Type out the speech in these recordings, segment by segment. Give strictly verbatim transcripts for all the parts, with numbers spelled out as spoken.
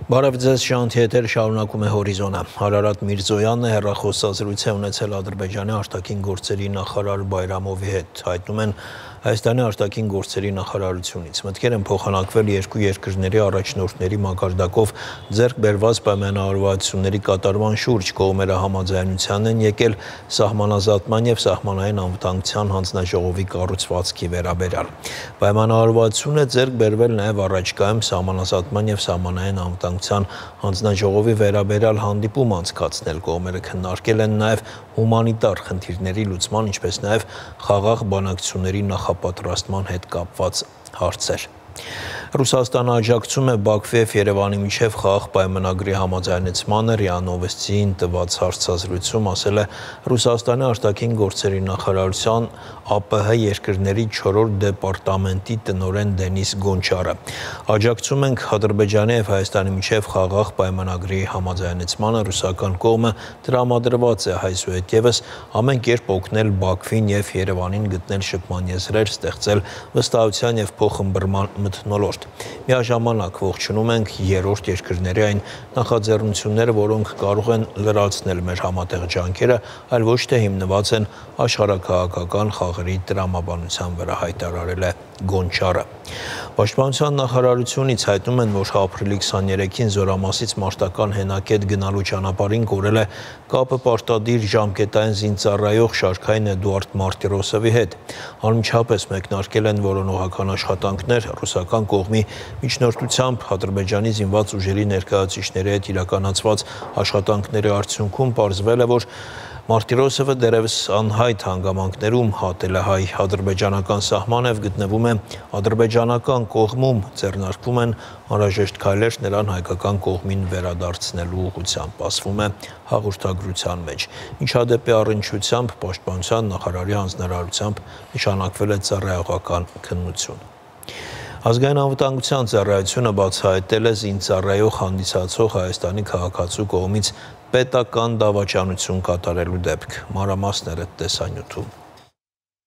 Բարև ձեզ, շանթի եթեր շարունակում է Հորիզոնը։ Հարարատ Միրզոյանն է հեռախոսազրույց է ունեցել Ադրբեջանի արտաքին գործերի նախարար Բայրամովի հետ, հայտնում են Հայաստանի արտաքին գործերի նախարարությունից։ Մտքեր են փոխանակվել երկու երկրների առաջնորդների մակարդակով ձեռք բերված պայմանավորվածությունների կատարման շուրջ, կողմերը համաձայնության են եկել սահմանազատման եւ սահմանային անվտանգության հանձնաժողովի կառուցվածքի վերաբերյալ։ Պայմանավորվածությունը ձեռք բերվել նաեւ առաջկայում սահմանազատման եւ սահմանային անվտանգության հանձնաժողովի վերաբերյալ հանդիպում անցկացնել, կողմերը քննարկել են նաեւ հումանիտար խնդիրների լուծման, ինչպես նաեւ խաղաղ բանակցությունների նախապատրաստման հետ կապված հարցեր։ Ռուսաստանը աջակցում է Բաքվի եւ Երևանի միջև խաղաղ պայմանագրի համաձայնեցմանը, ՌԻԱ Նովոստիին տված հարցազրույցում ասել է Ռուսաստանի արտաքին գործերի նախարարության ԱՊՀ երկրների չորրորդ դեպարտամենտի տնօրեն Դենիս Գոնչարը։ Աջակցում ենք Ադրբեջանի եւ Հայաստանի միջև խաղաղ պայմանագրի համաձայնեցմանը, ռուսական կողմը տրամադրված է այսուհետևս ամեն կերպ օգնել Բաքվին եւ Երևանին գտնել շփման եզրեր, ստեղծել վստահության եւ փոխըմբռնման մթնոլորտ։ Միաժամանակ ողջունում ենք երրորդ երկրների այն նախաձեռնությունները, որոնք կարող են լրացնել մեր համատեղ ջանքերը, այլ ոչ թե հիմնված են աշխարհաքաղաքական խաղերի տրամաբանության վրա, հայտարարել է Գոնչարը։ Պաշտպանության նախարարությունից հայտնում են, որ ապրիլի քսաներեքին Զորամասից մարտական հենակետ գնալու ճանապարհին կորել է կապը պարտադիր ժամկետային զինծառայող Շարքային Էդուարդ Մարտիրոսովի հետ։ Անմիջապես մեկնարկել են որոնողական աշխատանքներ, ռուսական կողմի միջնորդությամբ Ադրբեջանի զինված ուժերի ներկայացուցիչների հետ իրականացված աշխատանքների արդյունքում պարզվել է, որ Մարտիրոսովը դեռևս անհայտ հանգամանքներում հատել է հայ-ադրբեջանական սահմանը եւ գտնվում է ադրբեջանական կողմում, ձեռնարկվում են անհրաժեշտ քայլեր նրան հայկական կողմին վերադարձնելու ուղղությամբ, ասվում է հաղորդագրության մեջ։ Ինչադեպի առնչությամբ պաշտպանության նախարարի հանձնարարությամբ նշանակվել է ծառայողական քննություն։ Ազգային անվտանգության ծառայությունը բացահայտել է զինծառայող հանդիսացող Հայաստանի քաղաքացու կողմից պետական դավաճանություն կատարելու դեպք։ Մանրամասները տեսանյութում։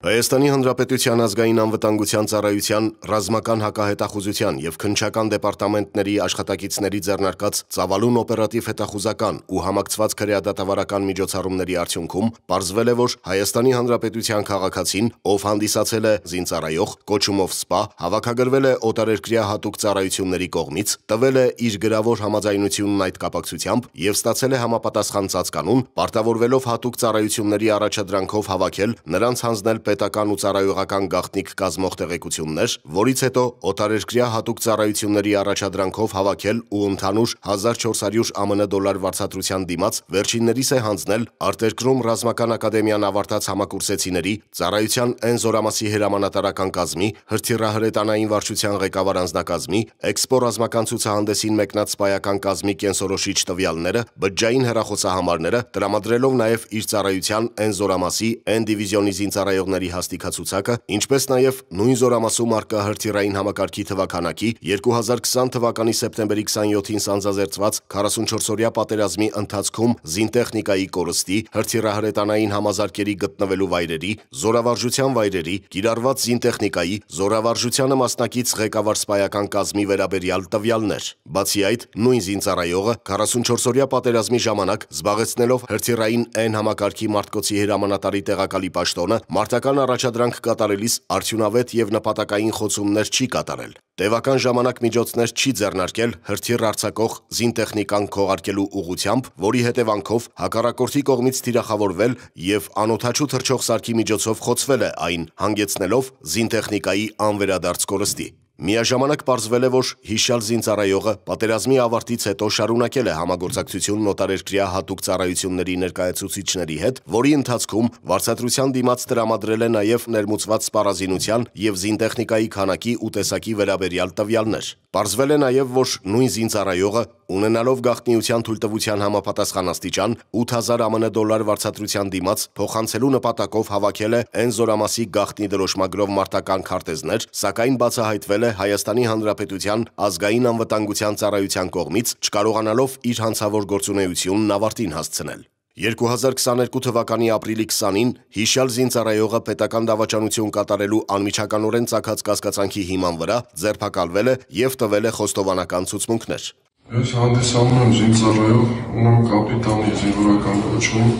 Հայաստանի Հանրապետության ազգային անվտանգության ծառայության ռազմական հակահետախուզության եւ քննչական դեպարտամենտների աշխատակիցների ձեռնարկած ծավալուն օպերատիվ հետախուզական ու համակցված քրեադատավարական միջոցառումների արդյունքում պարզվել է, որ Հայաստանի Հանրապետության քաղաքացին, ով հանդիսացել է զինծառայող, կոչումով սպա, հավաքագրվել է օտարերկրյա հատուկ ծառայությունների կողմից, տվել է իր գրավոր համաձայնությունն այդ կապակցությամբ եւ ստացել է համապատասխան ծածկանուն, պարտավորվելով հատուկ ծառայությունների առաջադրանքով հավաքել նրանց հանձնել պետական ու ծառայողական գաղտնիք կազմող տեղեկություններ, որից հետո օտարերկրյա հատուկ ծառայությունների առաջադրանքով հավաքել ու ընդհանուր հազար չորս հարյուր ԱՄՆ դոլար վարձատրության դիմաց վերջիններիս է հանձնել արտերկրում ռազմական ակադեմիան ավարտած համակուրսեցիների, ծառայության N զորամասի հրամանատարական կազմի, հրթիռահրետանային վարչության ղեկավար անձնակազմի, էքսպո ռազմական ցուցահանդեսին մեկնած սպայական կազմի կենսորոշիչ տվյալները, բջջային հեռախոսահամարները, տրամադրելով նաև իր ծառայության N զորամասի N դիվիզիոնի զինծառայողների հաստիքացուցակը, ինչպես նաև նույն զորամասում առկա հրթիռային համակարգի թվաքանակի երկու հազար քսան թվականի սեպտեմբերի քսանյոթին սանձազերծված քառասունչորսօրյա պատերազմի ընթացքում զինտեխնիկայի կորստի, հրթիռահրետանային համազարկերի գտնվելու վայրերի, զորավարժության վայրերի, կիրառված զինտեխնիկայի, զորավարժությանը մասնակից ղեկավար սպայական կազմի վերաբերյալ տվյալներ։ Բացի այդ, նույն զինծառայողը քառասունչորսօրյա պատերազմի ժամանակ զբաղեցնելով հրթիռային N համակարգի մարտկոցի հրամանատարի տեղակալի պաշտոնը, մարտական առաջադրանք կատարելիս արդյունավետ եւ նպատակային խոցումներ չի կատարել։ Տևական ժամանակ միջոցներ չի ձեռնարկել հրթիռ արձակող զինտեխնիկան քողարկելու ուղղությամբ, որի հետևանքով հակառակորդի կողմից թիրախավորվել եւ անօդաչու թռչող սարքի միջոցով խոցվել է այն, հանգեցնելով զինտեխնիկայի անվերադարձ կորստի։ Միաժամանակ պարզվել է, որ հիշյալ զինծառայողը պատերազմի ավարտից հետո շարունակել է համագործակցություն օտարերկրյա հատուկ ծառայությունների ներկայացուցիչների հետ, որի ընթացքում վարձատրության դիմաց տրամադրել է նաև ներմուծված սպառազինության եւ զինտեխնիկայի քանակի ու տեսակի վերաբերյալ տվյալներ։ Պարզվել է նաև, որ նույն զինծառայողը, ունենալով գաղտնիության թույլտվության համապատասխան աստիճան ութ հազար ԱՄՆ դոլար վարձատրության դիմաց փոխանցելու նպատակով հավաքել է N զորամասի գաղտնի դրոշմագրով մարտական քարտեզներ, սակայն բացահայտվել է Հայաստանի Հանրապետության ազգային անվտանգության ծառայության կողմից, չկարողանալով իր հանցավոր գործունեությունն ավարտին հասցնել։ երկու հազար քսաներկու թվականի ապրիլի քսանին հիշյալ զինծառայողը պետական դավաճանություն կատարելու անմիջականորեն ծագած կասկածանքի հիման վրա ձերբակալվել է եւ տվել է խոստովանական ցուցմունքներ։ Ես հանդիսանում եմ զինծառայող, ունեմ կապիտանի զինվորական կոչում,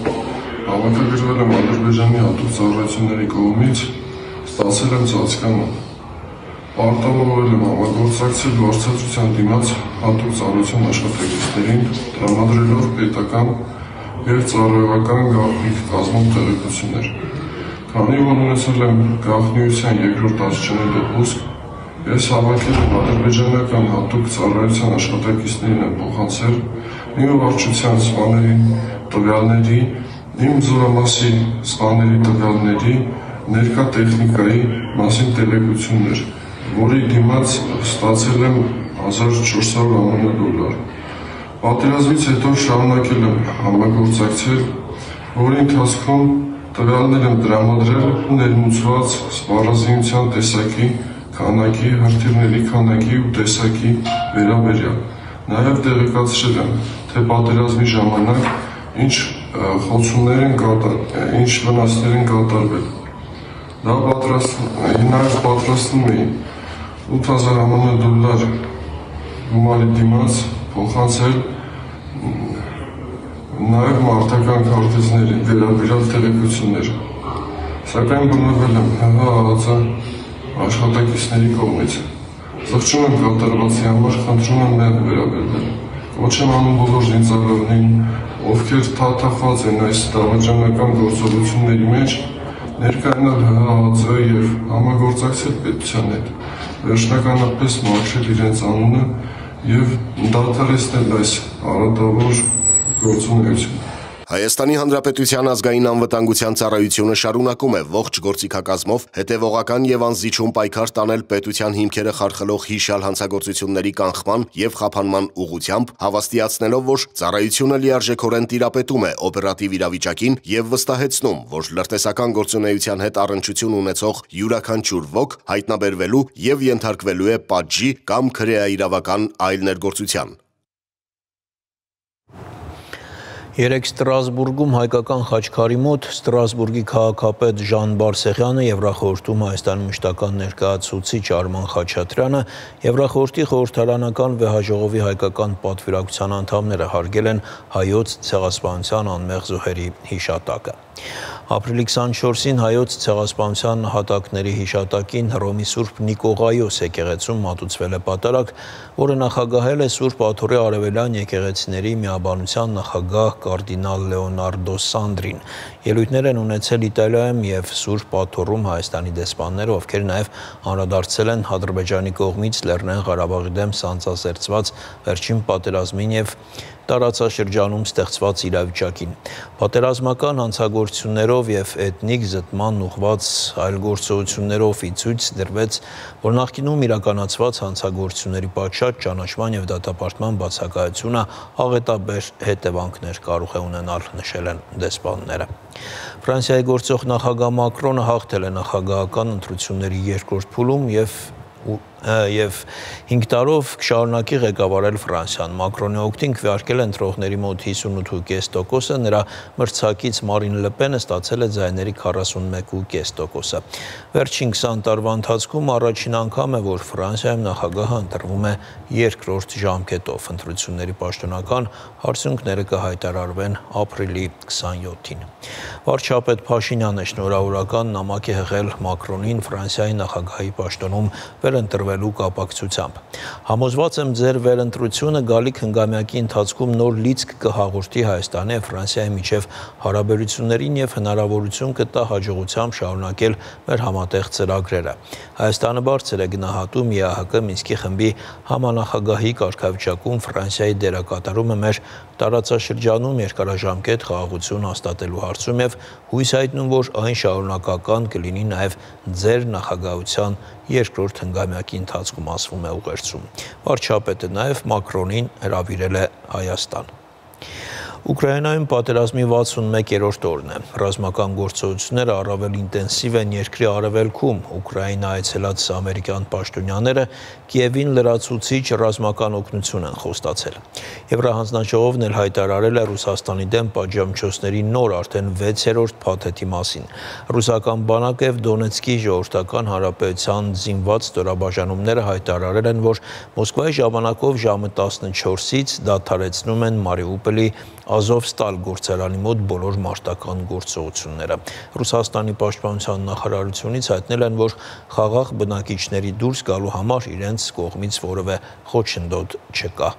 հավաքագրվել եմ Ադրբեջանի հատուկ ծառայությունների կողմից, ստացել եմ ծածկանում։ Պարտավորվել եմ համագործակցել վարձատրության դիմաց հատուկ ծառայություն աշխատակիցներին, տրամադրելով պետական և ծառայողական գաղտնիք կազմող տեղեկություններ։ Քանի որ ունեցել եմ գաղտնիության երկրորդ աստիճանի դպրոցք, ես հավաքել եմ ադրբեջանական հատուկ ծառայության աշխատակիցներին եմ փոխանցել իմ վարչության սպաների տվյալների, իմ զորամասի սպաների տվյալների, ներկա տեխնիկայի մասին տեղեկություններ, որի դիմաց ստացել եմ հազար չորս հարյուր ԱՄՆ դոլար։ Պատերազմից հետո շարունակել եմ համագործակցել, որի ընթացքում տվյալներ եմ տրամադրել ներմուծված սպառազինության տեսակի, քանակի, հրթիռների քանակի ու տեսակի վերաբերյալ։ Նաև տեղեկացրել եմ, թե պատերազմի ժամանակ ինչ խոցումներ են կատարվել, ինչ վնասներ են կատարվել։ Դա նաև պատրաստում էի ութ հազար ԱՄՆ դոլար գումարի դիմաց փոխանցել նաև մարտական քարտեզների վերաբերյալ տեղեկություններ։ Սակայն բռնվել եմ ՀՀԱԱԾ աշխատակիցների կողմից։ Զղջում եմ կատարվածի համար, խնդրում եմ մեղմ վերաբերվել։ Կոչ եմ անում բոլոր զինծառայողներին, ովքեր թաթախված են այս դավաճանական գործողությունների մեջ, ներկայանալ ՀՀԱԱԾ և համագործակցել պետության հետ, վերջնականապես մաքրել իրենց անունը և դադարեցնել այս արատավոր գործունեությունը։ Հայաստանի Հանրապետության ազգային անվտանգության ծառայությունը շարունակում է ողջ գործիքակազմով հետևողական և անզիջում պայքար տանել պետության հիմքերը խարխլող հիշյալ հանցագործությունների կանխման և խափանման ուղղությամբ, հավաստիացնելով, որ ծառայությունը լիարժեքորեն տիրապետում է օպերատիվ իրավիճակին և վստահեցնում, որ լրտեսական գործունեության հետ առնչություն ունեցող յուրաքանչյուր ոք հայտնաբերվելու և ենթարկվելու է պատժի կամ քրեաիրավական այլ ներգործության։ Երեկ Ստրասբուրգում հայկական խաչքարի մոտ Ստրասբուրգի քաղաքապետ Ժան Բարսեղյանը, Եվրախորհրդում Հայաստանի մշտական ներկայացուցիչ Արման Խաչատրյանը, Եվրախորհրդի խորհրդարանական վեհաժողովի հայկական պատվիրակության անդամները հարգել են հայոց ցեղասպանության անմեղ զոհերի հիշատակը։ Ապրիլի քսանչորսին հայոց ցեղասպանության նահատակների հիշատակին Հռոմի Սուրբ Նիկողայոս եկեղեցում մատուցվել է պատարագ, որը նախագահել է Սուրբ Աթոռի արևելյան եկեղեցիների միաբանության նախագահ կարդինալ Լեոնարդո Սանդրին։ Ելույթներ են ունեցել Իտալիայում և Սուրբ Աթոռում Հայաստանի դեսպանները, ովքեր նաև անդրադարձել են Ադրբեջանի կողմից Լեռնային Ղարաբաղի դեմ սանձազերծված վերջին պատերազմին և տարածաշրջանում ստեղծված իրավիճակին։ Պատերազմական հանցագործություններով և էթնիկ զտման ուղղված այլ գործողություններով ի ցույց դրվեց, որ նախկինում իրականացված հանցագործությունների պատշաճ ճանաչման և դատապարտման բացակայությունը աղետաբեր հետևանքներ կարող է ունենալ, նշել են դեսպանները։ Ֆրանսիայի գործող նախագահ Մակրոնը հաղթել է նախագահական ընտրությունների երկրորդ փուլում և և հինգ տարով կշարունակի ղեկավարել Ֆրանսիան։ Մակրոնի օգտին քվեարկել ընտրողների մոտ հիսունութ կόμμα պենս տոկոսը, նրա մրցակից Մարին Լեպենը ստացել է ձայների քառասունմեկ կόμμα պենս տոկոսը։ Վերջին քսան տարվա ընթացքում առաջին անգամ է, որ Ֆրանսիայում նախագահը ընտրվում է երկրորդ ժամկետով։ Ընտրությունների պաշտոնական արդյունքները կհայտարարվեն ապրիլի քսանյոթին։ Վարչապետ Փաշինյանը շնորհավորական նամակ է հղել Մակրոնին Ֆրանսիայի նախագահի պաշտոնում վերընտրվելու կապակցությամբ։ Համոզված եմ, ձեր վերընտրությունը գալիք հնգամյակի ընթացքում նոր լիցք կհաղորդի Հայաստանի և Ֆրանսիայի միջև հարաբերություններին և հնարավորություն կտա հաջողությամբ շարունակել մեր համատեղ ծրագրերը։ Հայաստանը բարձր է գնահատում ԵԱՀԿ Մինսկի խմբի համանախագահի կարգավիճակում Ֆրանսիայի դերակատարումը մեր տարածաշրջանում երկարաժամկետ խաղաղություն հաստատելու հարցում և հույս հայտնում, որ այն շարունակական կլինի նաև ձեր նախագահության երկրորդ հնգամյակի ընթացքում, ասվում է ուղերձում։ Վարչապետը նաև Մակրոնին հրավիրել է Հայաստան։ Ուկրաինայում պատերազմի վաթսունմեկերորդ օրն է։ Ռազմական գործողությունները առավել ինտենսիվ են երկրի արևելքում։ Ուկրաինա այցելած ամերիկյան պաշտոնյաները Կիևին լրացուցիչ ռազմական օգնություն են խոստացել։ Եվրահանձնաժողովն էլ հայտարարել է Ռուսաստանի դեմ պատժամիջոցների նոր արդեն վեցերորդ փաթեթի մասին։ Ռուսական բանակը եւ Դոնեցկի ժողովրդական հանրապետության զինված ստորաբաժանումները հայտարարել են, որ Մոսկվայի ժամանակով ժամը տասնչորսից դադարեցնում են Մարիուպոլի Ազովստալ գործարանի մոտ բոլոր մարտական գործողությունները։ Ռուսաստանի պաշտպանության նախարարությունից հայտնել են, որ խաղաղ բնակիչների դուրս գալու համար իրենց կողմից որևէ խոչընդոտ չկա։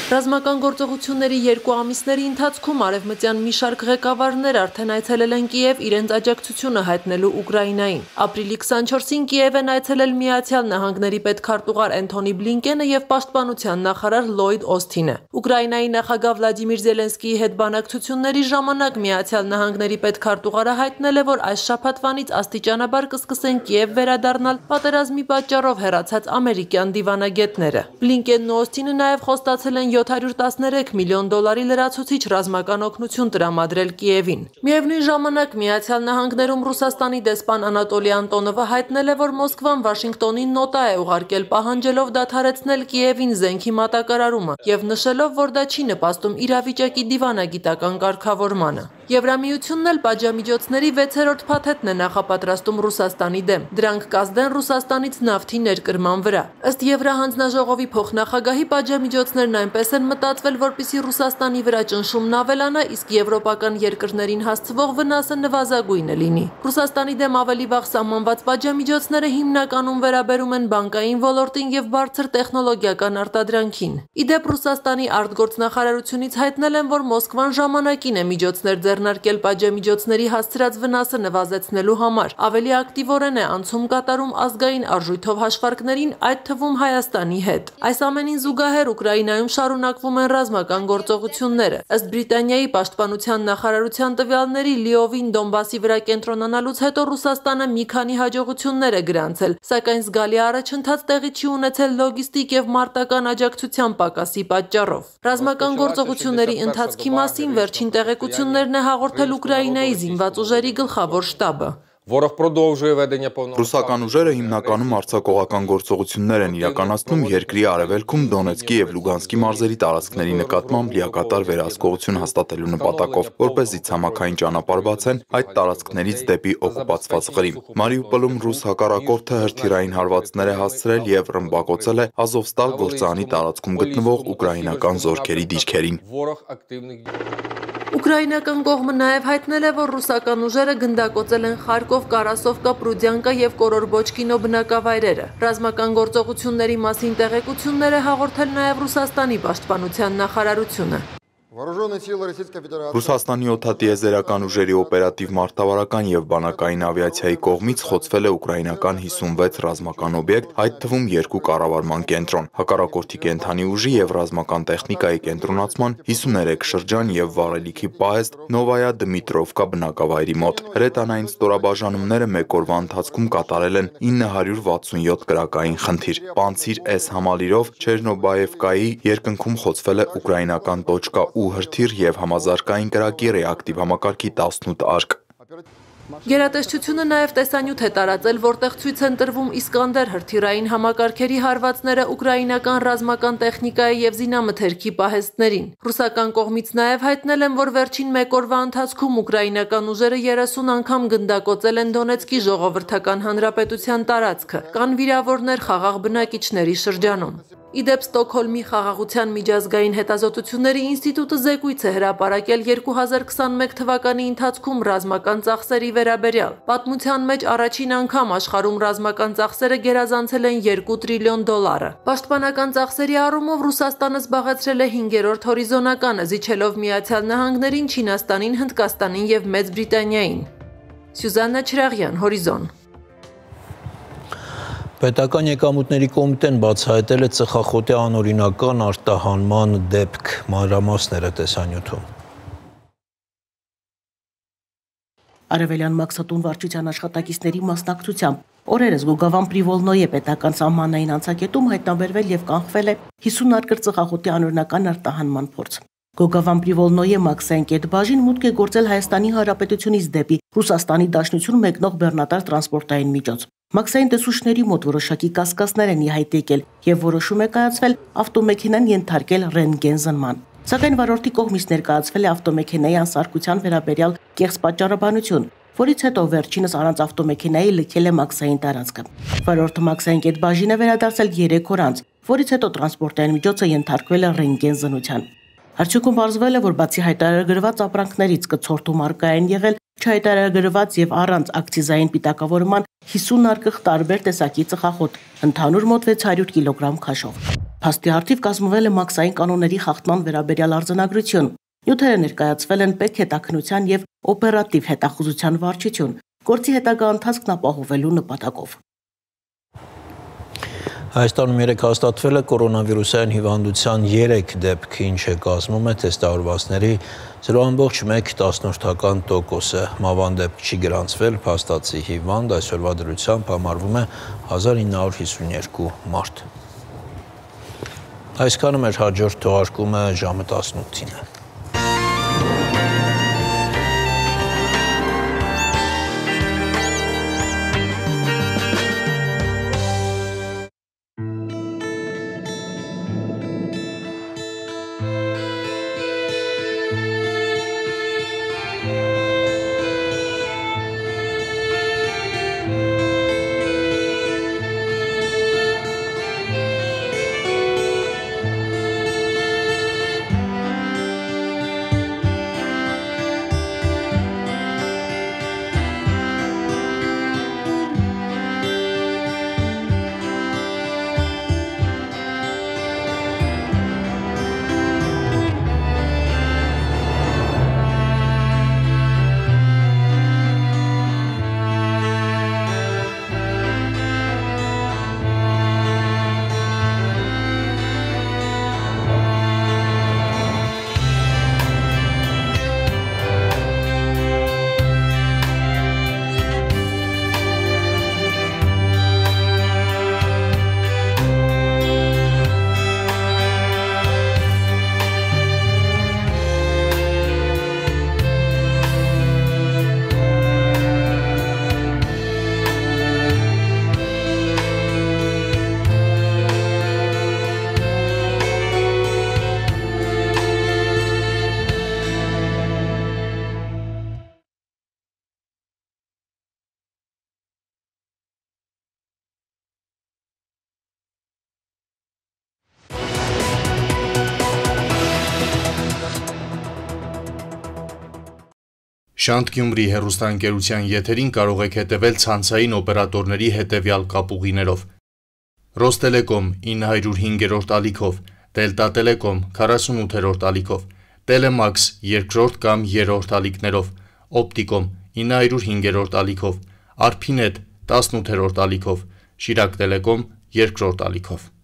Ռազմական գործողությունների երկու ամիսների ընթացքում արևմտյան մի շարք ղեկավարներ արդեն այցելել են Կիև իրենց աջակցությունը հայտնելու Ուկրաինային։ Ապրիլի քսանչորսին Կիև են այցելել Միացյալ Նահանգների պետքարտուղար Էնթոնի Բլինկենը եւ պաշտպանության նախարար Լլոյդ Օսթինը։ Ուկրաինայի նախագահ Վլադիմիր Զելենսկիի հետ բանակցությունների ժամանակ Միացյալ Նահանգների պետքարտուղարը հայտնել է, որ այս շաբաթվանից աստիճանաբար կսկսեն Կիև վերադառնալ պատերազմի պատճառով հեռացած ամերիկյան դիվանագետները։ Բլինկենն ու Օսթինը նաեւ խոստացել են յոթ հարյուր տասներեք միլիոն դոլարի լրացուցիչ ռազմական օգնություն տրամադրել Կիևին։ Միևնույն ժամանակ Միացյալ Նահանգներում Ռուսաստանի դեսպան Անատոլի Անտոնովը հայտնել է, որ Մոսկվան Վաշինգտոնին նոտա է ուղարկել պահանջելով դադարեցնել Կիևին զենքի մատակարարումը եւ նշելով, որ դա չի նպաստում իրավիճակի դիվանագիտական կարգավորմանը։ Եվրամիությունն էլ պատժամիջոցների վեցերորդ փաթեթն է նախապատրաստում Ռուսաստանի դեմ։ Դրանք կազդեն Ռուսաստանից նավթի ներկրման վրա։ Ըստ Եվրահանձնաժողովի փոխնախագահի պատժամիջոցներն այնպես են մտածվել, որպեսզի Ռուսաստանի վրա ճնշումն ավելանա, իսկ եվրոպական երկրներին հասցվող վնասը նվազագույնը լինի։ Ռուսաստանի դեմ ավելի վաղ սահմանված պատժամիջոցները հիմնականում վերաբերում են բանկային ոլորտին եւ բարձր տեխնոլոգիական արտադրանքին։ Իդեպ Ռուսաստանի արտգործնախարարությունից հայտնել են, որ Մոսկվան ժամանակին է միջոցներ ձեռնարկել պատժամիջոցների հասցրած վնասը նվազեցնելու համար, ավելի ակտիվորեն է անցում կատարում ազգային արժույթով հաշվարկներին, այդ թվում Հայաստանի հետ։ Այս ամենին զուգահեռ Ուկրաինայում շարունակվում են ռազմական գործողությունները։ Ըստ Բրիտանիայի պաշտպանության նախարարության տվյալների, լիովին Դոնբասի վրա կենտրոնանալուց հետո Ռուսաստանը մի քանի հաջողություններ է գրանցել, սակայն զգալի առաջընթաց տեղի չի ունեցել լոգիստիկ եւ մարտական աջակցության պակասի պատճառով։ Ռազմական գործողությունների ընթացքի մասին վերջին տեղեկություններն է հաղորդել Ուկրաինայի զինված ուժերի գլխավոր շտաբը։ Ռուսական ուժերը հիմնականում արձակողական գործողություններ են իրականացնում երկրի արևելքում Դոնեցկի եւ Լուգանսկի մարզերի տարածքների նկատմամբ լիակատար վերահսկողություն հաստատելու նպատակով, որպեսզի ցամաքային ճանապարհ բացեն այդ տարածքներից դեպի օկուպացված Ղրիմ։ Մարիուպոլում ռուս հակառակորդը հրթիռային հարվածներ է հասցրել եւ ռմբակոծել է Ազովստալ գործարանի տարածքում գտնվող ուկրաինական զորքերի դիրքերին։ Ուկրաինական կողմը նաև հայտնել է, որ ռուսական ուժերը գնդակոծել են Խարկով, Կարասովկա, Պրուդյանկա եւ Կորորբոչկինո բնակավայրերը։ Ռազմական գործողությունների մասին տեղեկություններ է հաղորդել նաև Ռուսաստանի պաշտպանության նախարարությունը։ Ռուսաստանի օդատիեզերական ուժերի օպերատիվ մարտավարական եւ բանակային ավիացիայի կողմից խոցվել է ուկրաինական հիսունվեց ռազմական օբյեկտ, այդ թվում երկու կառավարման կենտրոն, հակառակորդի կենթանի ուժի եւ ռազմական տեխնիկայի կենտրոնացման հիսուներեք շրջան եւ վառելիքի պահեստ Նովայա Դմիտրովկա բնակավայրի մոտ։ Հրետանային ստորաբաժանումները մեկ օրվա ընթացքում կատարել են ինը հարյուր վաթսունյոթ կրակային խնդիր։ Պանցիր S համալիրով Չերնոբաևկայի երկնքում խոցվել է ուկրաինական տոչկա ու հրթիռ եւ համազարգային կրակի ռեակտիվ համակարգի տասնութ արկ։ Գերատեսչությունը նաև տեսանյութ է տարածել, որտեղ ցույց են տրվում Իսկանդեր հրթիռային համակարգերի հարվածները ուկրաինական ռազմական տեխնիկայի եւ զինամթերքի պահեստներին։ Ռուսական կողմից նաև հայտնել են, որ վերջին մեկ օրվա ընթացքում ուկրաինական ուժերը երեսուն անգամ գնդակոծել են Դոնեցկի ժողովրդական հանրապետության տարածքը, կան վիրավորներ խաղաղ բնակիչների շրջանում։ Իդեպ Ստոկհոլմի խաղաղության միջազգային հետազոտությունների ինստիտուտը զեկույց է հրապարակել երկու հազար քսանմեկ թվականի ընթացքում ռազմական ծախսերի վերաբերյալ։ Պատմության մեջ առաջին անգամ աշխարհում ռազմական ծախսերը գերազանցել են երկու տրիլիոն դոլարը։ Պաշտպանական ծախսերի առումով Ռուսաստանը զբաղեցրել է հինգերորդ հորիզոնականը, զիջելով Միացյալ Նահանգներին, Չինաստանին, Հնդկաստանին եւ Մեծ Բրիտանիային։ Սյուզաննա Չրաղյան, Հորիզոն։ Պետական եկամուտների կոմիտեն բացահայտել է ծխախոտի անօրինական արտահանման դեպք, մանրամասները տեսանյութում։ Արևելյան Մաքսատուն վարչության աշխատակիցների մասնակցությամբ օրերս Գոգավան Պրիվոլնոյի պետական սահմանային անցակետում հայտնաբերվել եւ կանխվել է հիսուն արկր ծխախոտի անօրինական արտահանման փորձ։ Գոգավան Պրիվոլնոյի Մաքսային կետբաժին մուտք է գործել Հայաստանի Հանրապետությունից դեպի Ռուսաստանի Դաշնություն մեկնող բեռնատար տրանսպորտային միջոց։ Մաքսային տեսուչների մոտ որոշակի կասկածներ են ի հայտ եկել եւ որոշում է կայացվել ավտոմեքենան ենթարկել ռենտգեն զնման։ Սակայն վարորդի կողմից ներկայացվել է ավտոմեքենայի անսարքության վերաբերյալ կեղծ պատճառաբանություն, որից հետո վերջինս առանց ավտոմեքենայի լքել է Մաքսային տարածքը։ Վարորդը Մաքսային կետբաժին է վերադարձել երեք օր անց, որից հետո տրանսպորտային միջոցը ենթարկվել է ռենտգեն զննության։ Արդյունքում պարզվել է, որ բացի հայտարարագրված ապրանքներից կցորդում արկա են եղել չհայտարարագրված եւ առանց ակցիզային պիտակավորման հիսուն արկղ տարբեր տեսակի ծխախոտ, ընդհանուր մոտ վեց հարյուր կիլոգրամ քաշով։ Փաստի առթիվ կազմվել է Մաքսային կանոնների խախտման վերաբերյալ արձանագրություն։ Նյութերը ներկայացվել են պետք հետաքննության եւ օպերատիվ հետախուզության վարչություն, գործի հետագա ընթացքն ապահովելու նպատակով։ Հայաստանում երեկ հաստատվել է կորոնավիրուսային հիվանդության երեք դեպք, ինչը կազմում է թեստավորվածների զրո ամբողջ մեկ տասնորդական տոկոսը։ Մավան դեպք չի գրանցվել, փաստացի հիվանդ այսօրվա դրությամբ համարվում է հազար ինը հարյուր հիսունյերկու մարդ։ Այսքանը մեր հաջորդ թողարկումը ժամը տասնութին է։ Շանթ Գյումրի հեռուստաընկերության եթերին կարող եք հետևել ցանցային օպերատորների հետևյալ կապուղիներով. Ռոստելեկոմ ինը հարյուր հինգերորդ ալիքով, Դելտա Տելեկոմ քառասունութերորդ ալիքով, Տելեմաքս երկրորդ կամ երրորդ ալիքներով, Օպտիկոմ ինը հարյուր հինգերորդ ալիքով, Արփինետ տասնութերորդ ալիքով, Շիրակ Տելեկոմ երկրորդ ալիքով։